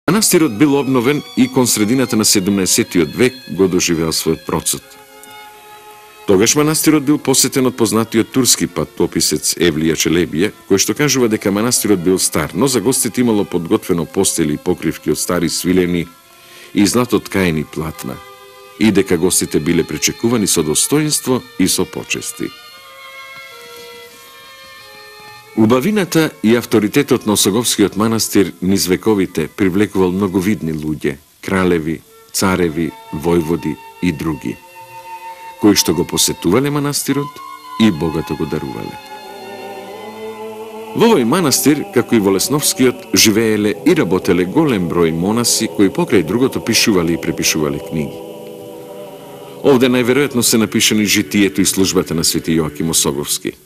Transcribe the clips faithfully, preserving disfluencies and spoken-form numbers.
Манастирот бил обновен и кон средината на седумнаесеттиот век го доживеал својот процот. Тогаш манастирот бил посетен од познатиот турски патописец Евлија Челебија, кој што кажува дека манастирот бил стар, но за гостите имало подготвено постели и покривки од стари свилени и златоткаени платна, и дека гостите биле пречекувани со достоинство и со почести. Убавината и авторитетот на Осоговскиот манастир низ вековите привлекувал многовидни луѓе, кралеви, цареви, војводи и други, кои што го посетувале манастирот и богато го дарувале. Во овој манастир, како и во Лесновскиот, живееле и работеле голем број монаси кои покрај другото пишувале и препишувале книги. Овде најверојатно се напишани житието и службата на свети Јоаким Осоговски.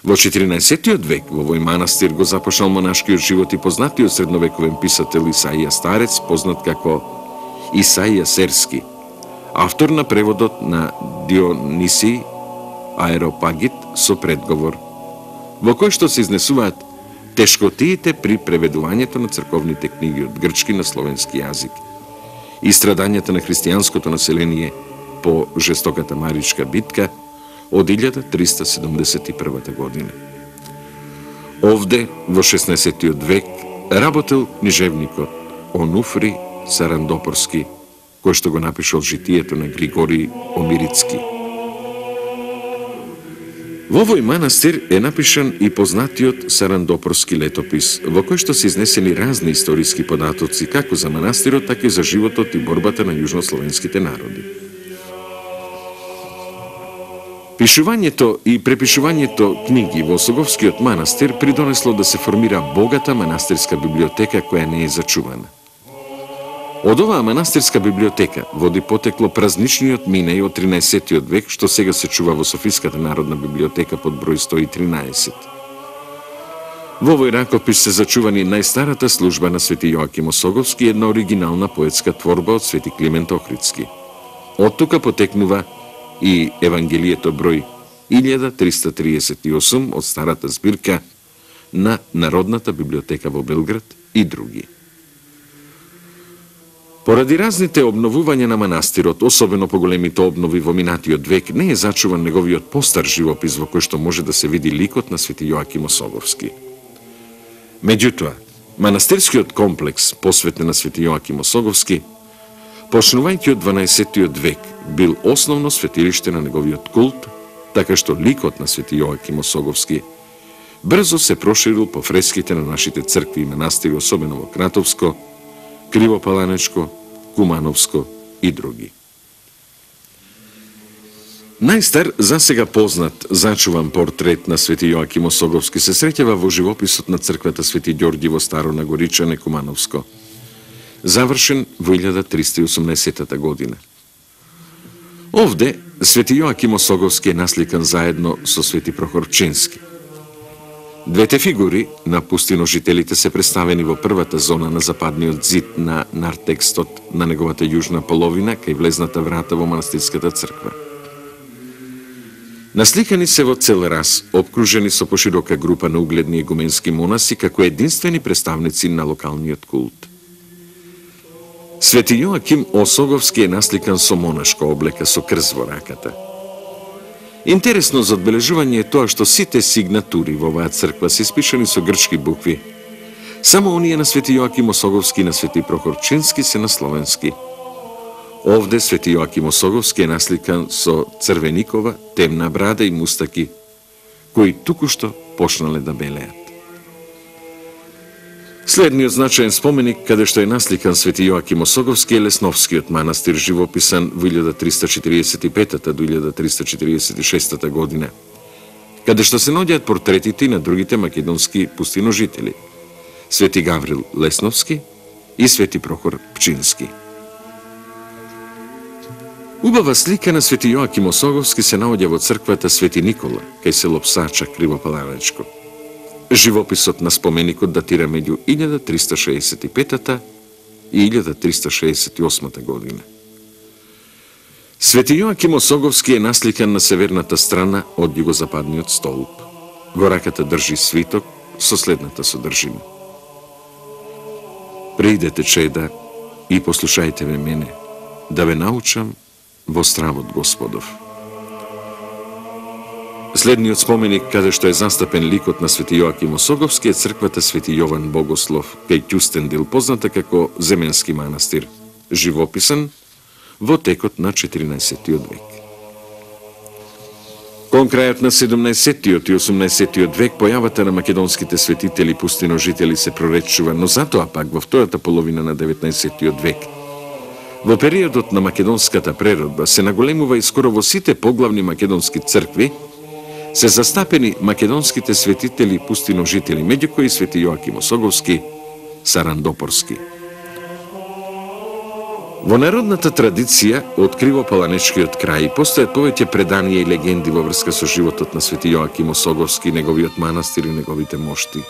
Во четиринаесеттиот век во овој манастир го започнал монашкиот живот и познатиот средновековен писател Исаија Старец, познат како Исаија Серски, автор на преводот на Дионисий Аеропагит со предговор, во кој што се изнесуваат тешкотиите при преведувањето на црковните книги од грчки на словенски јазик и страдањата на христијанското население по жестоката Маричка битка од илјада триста седумдесет и прва година. Овде, во шеснаесеттиот век, работел книжевникот Онуфри Сарандопорски, кој што го напишал житието на Григорий Омирицки. Во овој манастир е напишан и познатиот Сарандопорски летопис, во кој што се изнесени разни историски податоци како за манастирот, така и за животот и борбата на јужнословенските народи. Пишувањето и препишувањето книги во Осоговскиот манастир придонесло да се формира богата манастирска библиотека која не е зачувана. Од оваа манастирска библиотека води потекло празничниот минеј од тринаесеттиот век, што сега се чува во Софиската народна библиотека под број сто и тринаесет. Во овој ракопис се зачувани најстарата служба на свети Јоаким Осоговски и една оригинална поетска творба од свети Климент Охридски. Од тука потекнува и Евангелието број илјада триста триесет и осум од старата збирка на Народната библиотека во Белград и други. Поради разните обновувања на манастирот, особено по големите обнови во минатиот век, не е зачуван неговиот постар живопис во кој што може да се види ликот на свети Јоаким Осоговски. Меѓутоа, манастирскиот комплекс посветен на свети Јоаким Осоговски, почнувајќи од дванаесеттиот век, бил основно светилиште на неговиот култ, така што ликот на свети Јоаким Осоговски брзо се проширил по фреските на нашите цркви и манастири, особено во Кратовско, Кривопаланечко, Кумановско и други. Најстар, засега познат, зачуван портрет на свети Јоаким Осоговски се среќава во живописот на црквата Свети Ѓорѓи во Старо Нагоричане, Кумановско, завршен во илјада триста и осумнаесета година. Овде, свети Јоаким Осоговски е насликан заедно со свети Прохор Пчински. Двете фигури на пустиножителите се представени во првата зона на западниот зид на нартекстот на неговата јужна половина, кај влезната врата во манастирската црква. Насликани се во цел раз, обкружени со поширока група на угледни егуменски монаси како единствени представници на локалниот култ. Свети Јоаким Осоговски е насликан со монашка облека со крст во раката. Интересно за одбележување е тоа што сите сигнатури во оваа црква се испишани со грчки букви. Само оние на свети Јоаким Осоговски и на свети Прохор Пчински се на словенски. Овде свети Јоаким Осоговски е насликан со црвеникова, темна брада и мустаки, кои тукушто почнале да белеат. Следниот значаен споменик, каде што е насликан свети Јоаким Осоговски, е Лесновскиот манастир, живописан во илјада триста четириесет и пета до илјада триста четириесет и шеста година, каде што се наоѓаат портретите на другите македонски пустиножители, свети Гаврил Лесновски и свети Прохор Пчински. Убава слика на свети Јоаким Осоговски се наоѓа во црквата Свети Никола, кај село Псача, Кривопаланечко. Живописот на споменикот датира меѓу илјада триста шеесет и пета и илјада триста шеесет и осма година. Свети Јоаким Осоговски е насликан на северната страна од југозападниот столб. Во раката држи свиток со следната содржина. Преидете, чеда, и послушајте ме мене, да ве научам во стравот Господов. Следниот споменик, каде што е застапен ликот на свети Јоаким Осоговски, е црквата Свети Јован Богослов, кај Ќустендил, позната како Земенски манастир, живописан во текот на четиринаесеттиот век. Кон крајот на седумнаесеттиот и осумнаесеттиот век, појавата на македонските светители пустиножители се проречува, но затоа пак во втората половина на деветнаесеттиот век, во периодот на македонската преродба, се наголемува и скоро во сите поглавни македонски цркви се застапени македонските светители пустиножители, меѓу кои свети Јоаким Осоговски, Сарандопорски. Во народната традиција од Кривопаланечкиот крај постојат повеќе преданија и легенди во врска со животот на свети Јоаким Осоговски, неговиот манастир и неговите мошти.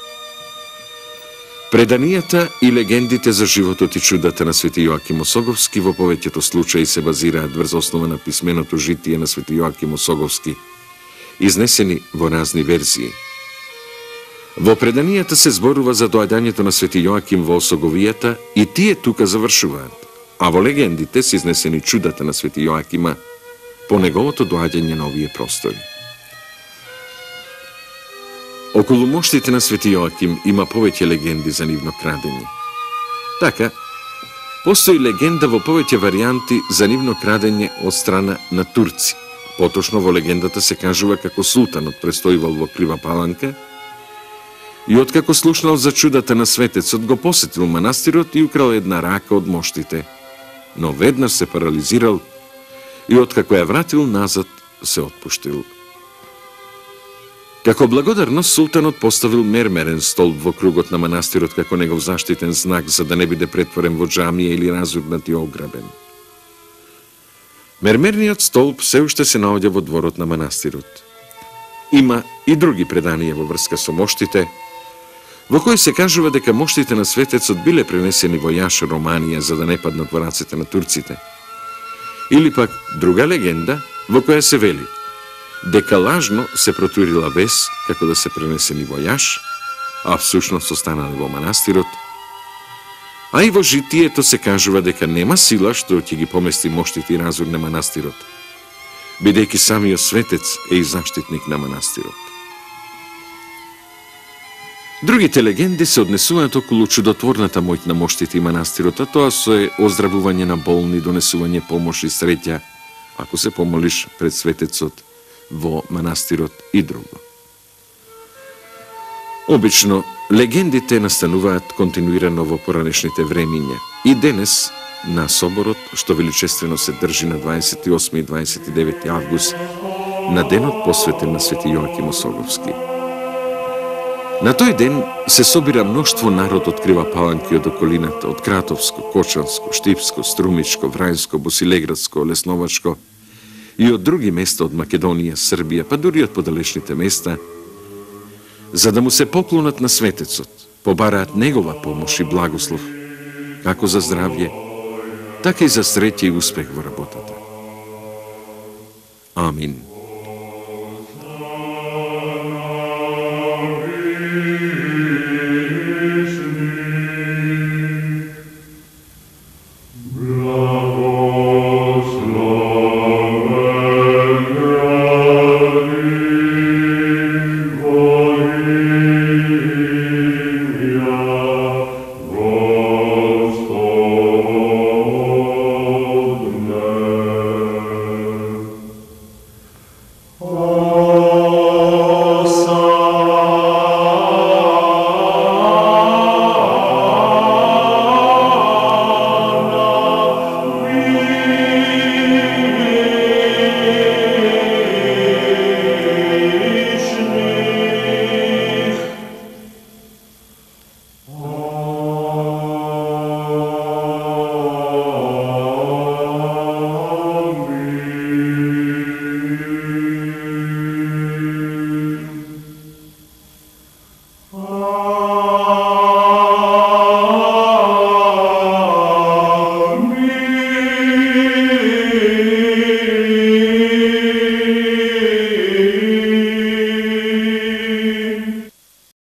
Преданијата и легендите за животот и чудата на свети Јоаким Осоговски во повеќето случаи се базираат врз основа на писменото житие на свети Јоаким Осоговски, изнесени во разни верзии. Во преданијата се зборува за доаѓањето на свети Јоаким во Осоговијата и тие тука завршуваат, а во легендите се изнесени чудата на свети Јоакима по неговото доаѓање на овие простори. Околу моштите на свети Јоаким има повеќе легенди за нивно крадење. Така, постои легенда во повеќе варијанти за нивно крадење од страна на турци. Поточно во легендата се кажува како султанот престојувал во Крива Паланка и откако слушнал за чудата на светецот, го посетил манастирот и украл една рака од моштите, но веднаш се парализирал и откако ја вратил назад, се отпуштил. Како благодарност, султанот поставил мермерен столб во кругот на манастирот како негов заштитен знак за да не биде претворен во џамија или разурнат и ограбен. Мермерниот столб се уште се наоѓа во дворот на манастирот. Има и други преданија во врска со моштите, во кои се кажува дека моштите на светецот биле пренесени во Јаш, Романија, за да не паднат во раците на турците. Или пак друга легенда во која се вели дека лажно се протурила вес како да се пренесени во Јаш, а всушност останали во манастирот. А и во житието се кажува дека нема сила што ќе ги помести моштите и разур на манастирот, бидејќи самиот светец е и заштитник на манастирот. Другите легенди се однесуваат околу чудотворната моќ на моштите и манастирот, а тоа се оздравување на болни, донесување помош и среќа, ако се помолиш пред светецот во манастирот и друго. Обично, легендите настануваат континуирано во поранешните времиња и денес на соборот, што величествено се држи на дваесет и осми и дваесет и девети август, на денот посветен на свети Јоаким Осоговски. На тој ден се собира мноштво народ од Крива Паланка и од околината, од Кратовско, Кочанско, Штипско, Струмичко, Врајско, Босилеградско, Лесновачко и од други места од Македонија, Србија, па дури од подалечните места, за да му се поклонат на светецот, побараат негова помош и благослов, како за здравје, така и за среќа и успех во работата. Амин.